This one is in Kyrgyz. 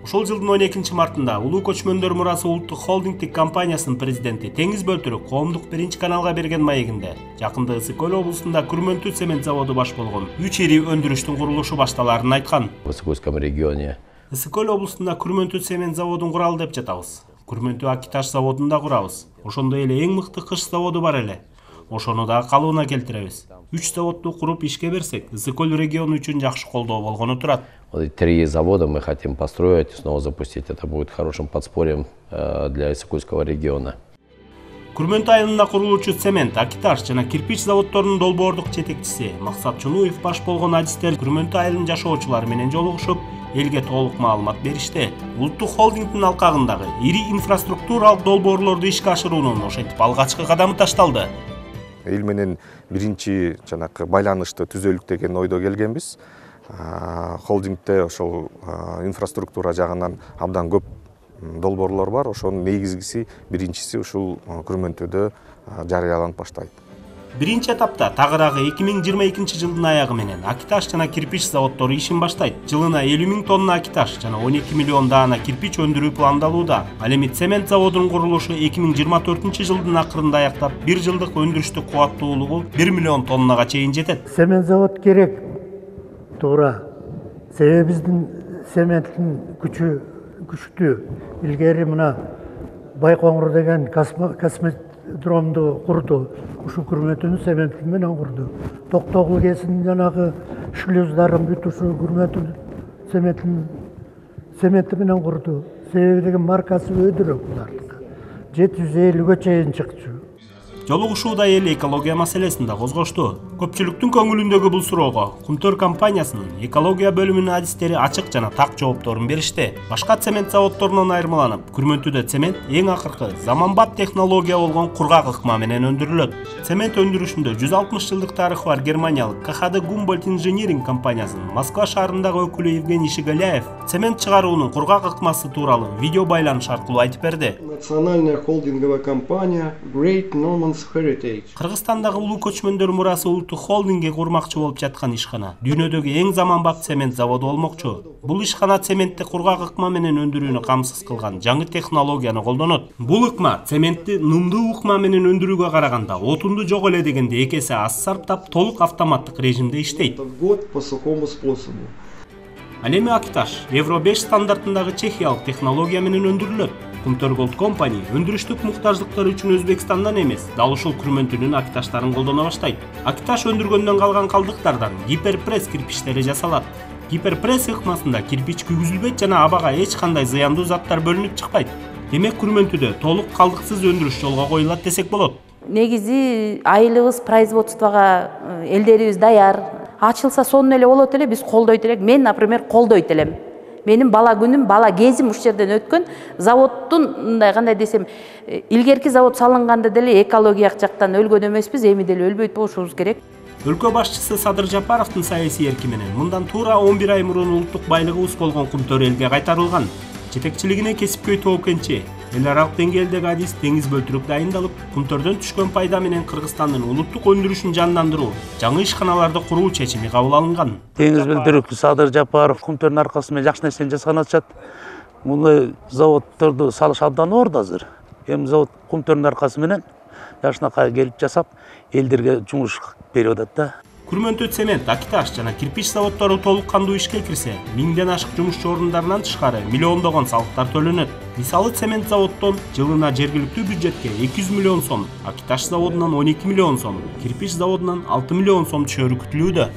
Ушул жылдын 12-мартында Улуу Көчмөндөр Мурасы улуттук холдингдик компаниясынын президенти Теңиз Бөлтүрүк коомдук биринчи каналга берген маегинде жакында Ысык Көл облусунда күрмөнтү цемент заводу баш болгон 3 ири өндүрүштүн курулушу башталарын айткан. В Ысык-Кульском регионе Ысык Көл облусунда күрмөнтү цемент заводун куралы деп жатабыз. Күрмөнтү Акиташ заводун да курабыз. Ошондой эле эң мыкты кыш заводу бар эле. Ошону да калыбына келтиребиз. 3 заводду куруп ишке берсек, Ысык Көл региону үчүн жакшы колдоо болгону турат. 3 завода мы хотим построить, снова запустить. Это будет хорошим подспорьем для Ысык-Кульского региона. Күрмөнтү айылында курулуучу цемент, Акиташ жана кирпич заводдорунун долбоордук жетекчиси Максат Чунуев баш болгон адистер Күрмөнтү айылынын жашоочулары менен жолугушуп, элге толук маалымат беришти. Улуттук холдингдин алкагындагы ири инфраструктуралык долбоорлорду ишке ашыруунун ошентип алгачкы кадамы ташталды. Эл менен биринчи жанакы байланышты түзөлүк деген ойдо келгенбиз. Холдингде ошол инфраструктура жагынан абдан көп долбоорлор бар. Ошонун негизгиси биринчиси ушул Күрмөнтүдө жарыяланып баштайт. Биринчи этапта тагыраагы 2022 жылдын аягы менен Акиташ жана кирпич заводдору ишин баштайт. Жылына 50 000 тонна Акиташ жана 12 миллион даана кирпич өндүрүү пландалууда. Ал эми цемент заводунун курулушу 2024 жылдын акырында аяктап, 1 жылдык өндүрүштүк кубаттуулугу 1 миллион тоннага чейин жетет. Цемент завод керек. Туура. Себеби биздин цементтин күчү күчтүү. Илгери мына Байкоңур деген космодромду курду. Ушу Күрмөнтүнүн цементи менен курду. Токтогул кесин жанагы шлюздарын бүт ушу Күрмөнтүнүн цементи менен курду. Себеби деген маркасы өйдөрөк булардыкы. 750-ге чейин чыкчу. Жолугушууда эл экология маселесин да козгошту. Көпчүлүктүн көңүлүндөгү бул суроого Кумтөр компаниясынын экология бөлүмүнүн адистери ачык жана так жоопторун беришти. Башка цемент заводдорунан айырмаланып, Күрмөнтүдө цемент эң акыркы заманбап технология болгон кургак ыкма менен өндүрүлөт. Цемент өндүрүшүндө 160 жылдык тарыхы бар германиялык КХД Гумбольдт инжиниринг компаниясынын Москва шаарындагы өкүлү Евгений Шигаляев цемент чыгаруунун кургак ыкмасы тууралуу видео байланыш аркылуу айтып берди. Национальная холдинговая компания Great Norman Кыргызстандагы Улуу Көчмөндөр Мурасы улуттук холдингге курмакчы болуп жаткан ишкана дүйнөдөгү эң заманбап цемент заводу болмокчу. Бул ишкана цементти кургак ыкма менен өндүрүүнү камсыз кылган жаңы технологияны колдонот. Бул ыкма цементти нымдуу ыкма менен өндүрүүгө караганда отунду жок эле дегенде 2 эсе аз сарптап, толук автоматтык режимде иштейт. Ал эми Акиташ Евро 5 стандартындагы чехиялык технология менен өндүрүлөт. Кумтөр Gold Company өндүрүштүк муктаждыктар үчүн Өзбекстандан эмес, дал ушул Күрмөнтүнүн Акиташтарын колдоно баштайт. Акиташ өндүргөндөн калган калдыктардан гиперпресс кирпичтери жасалат. Гиперпресс ыкмасында кирпич күйгүзүлбөйт жана абага эч кандай зыяндуу заттар бөлүнүп чыкпайт. Демек Күрмөнтүдө толук калдыксыз өндүрүш жолго коюлат десек болот. Негизи айылыбыз производствого элдерибиз даяр. Ачылса сонун эле болот эле, биз колдойт элек. Мен, например, колдойт элем. Менин бала күнүм, бала кезим уш жерден өткөн. Заводдун мындай кандай десем, илгерки завод салынганда деле экологиялык жактан өлгөн эмеспиз, эми деле өлбөйт болушубуз керек. Өлкө башчысы Садыр Жапаровдун саясий эрки менен мындан туура 11 ай мурун улуттук байлыгыбыз болгон Кумтөр элге кайтарылган. Жетекчилигине кесипкөй тобокенчи, эл аралык деңгээлдеги адис Теңиз Бөлтүрүк дайындалып, Кумтөрдөн түшкөн пайда менен Кыргызстандын улуттук өндүрүшүн жандандыруу, жаңы ишканаларды куруу чечими кабыл алынган. Теңиз Бөлтүрүк, Садыр Жапаров Кумтөрдүн аркасы менен жакшы нерсени жасаган атышат. Мындай заводдорду салыш абдан оор азыр. Эми завод Кумтөрдүн аркасы менен жашынакай келип жасап, элдерге жумуш берип атат да. Күрмөнтү цемент, Акиташ жана кирпич заводдору толук кандуу ишке кирсе, 1000ден ашык жумушчу орундарынан тышкары миллиондогон салыктар төлөнөт. Мисалы цемент заводдон жылына жергиликтүү бюджетке 200 миллион сом, Акиташ заводунан 12 миллион сом, кирпич заводунан 6 миллион сом түшөрү күтүлүүдө.